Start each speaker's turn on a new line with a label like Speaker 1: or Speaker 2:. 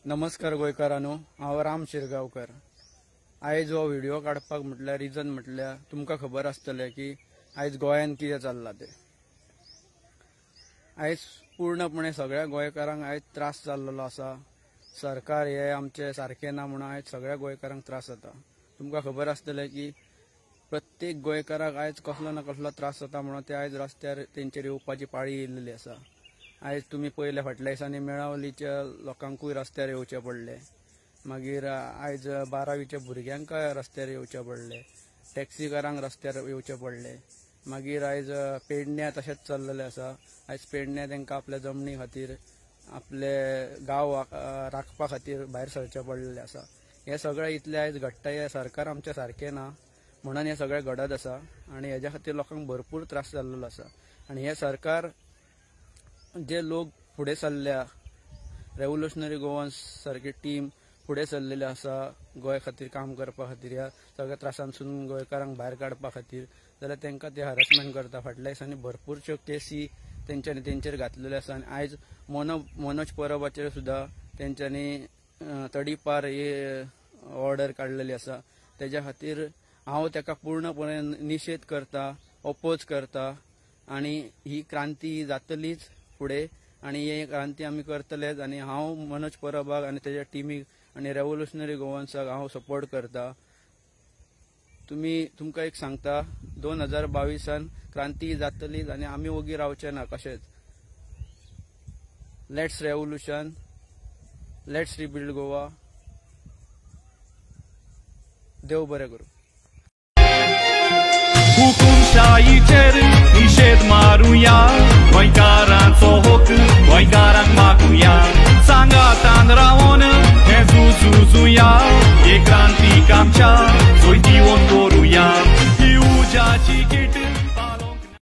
Speaker 1: नमस्कार गोंयकारांनो, हांव राम शिरगांवकर। आयज हो व्हिडिओ काडपाक म्हटल्यार रिजन म्हटल्यार तुमकां खबर आसतलें की आयज गोंयांत कितें चल्लां तें। आयज पूर्णपणे सगळ्या गोंयकारांक आयज त्रास जाल्लो आसा। सरकार हे आमचे सारकें ना म्हणून आयज सगळ्या गोंयकारांक त्रास जाता। तुमकां खबर आसतलें की प्रत्येक गोंयकाराक आयज कसलो ना कसलो त्रास जाता म्हणून ते आयज रस्त्यार तेंचेर येवपाची पाळी येयल्ली आसा। आयज तुमी पयले फाटल्या दिसांनी मेळावलीच्या लोकांकूय रस्त्यार येवचें पडलें, मागीर आयज बारावीच्या भुरग्यांकय रस्त्यार येवचें पडलें, टॅक्सीकारांक रस्त्यार येवचें पडलें, मागीर आयज पेडण्या तशेंच चल्लेलें आसा। आयज पेडण्या तांकां आपल्या जमनी खातीर आपले गांव राखपा खातीर भायर सरचें पडलेलें आसा। हें सगळें इतलें आयज घडटा, हें सरकार आमचें सारकें ना म्हणून हें सगळें घडत आसा आनी हेज्या खातीर लोकांक भरपूर त्रास जाल्लो आसा। आनी हें सरकार जे लोक फुडें सरल्या, रेव्होल्युशनरी गोवन्स सारकी टीम फुडें सरलेली आसा गोंय खातीर काम करपा खातीर, ह्या सगळ्या त्रासांसून गोंयकारांक भायर काडपा खातीर, जाल्यार तांकां ते हॅरसमेंट करता। फाटल्या दिसांनी भरपूरच्यो केसी तेंच्यांनी तेंचेर घातलेल्यो आसा आनी आयज मनोज परबाचेर सुद्दां तेंच्यांनी तडीपार ही ऑर्डर काडलेली आसा। तेज्या खातीर हांव ताका पूर्णपणे निशेध करता, ओपोज करता आनी ही क्रांती जातलीच फुडें आनी ही क्रांती आमी करतलेच। आनी हांव मनोज परबाक आनी तेज्या टिमीक आनी रेव्होल्युशनरी गोवन्साक हांव सपोर्ट करता। तुमकां एक सांगता, 2022 क्रांती जातलीच आनी आमी ओगी रावचे ना कशेंच। Let's revolution, let's rebuild Goa. देव बरें करूं।
Speaker 2: हुकुमशाहीचेर निशेध मारुया, गोंयकारांचो हक गोंयकारांक मागुया, सांगातान रावन हें झुजुया, हे क्रांतीक आमच्या।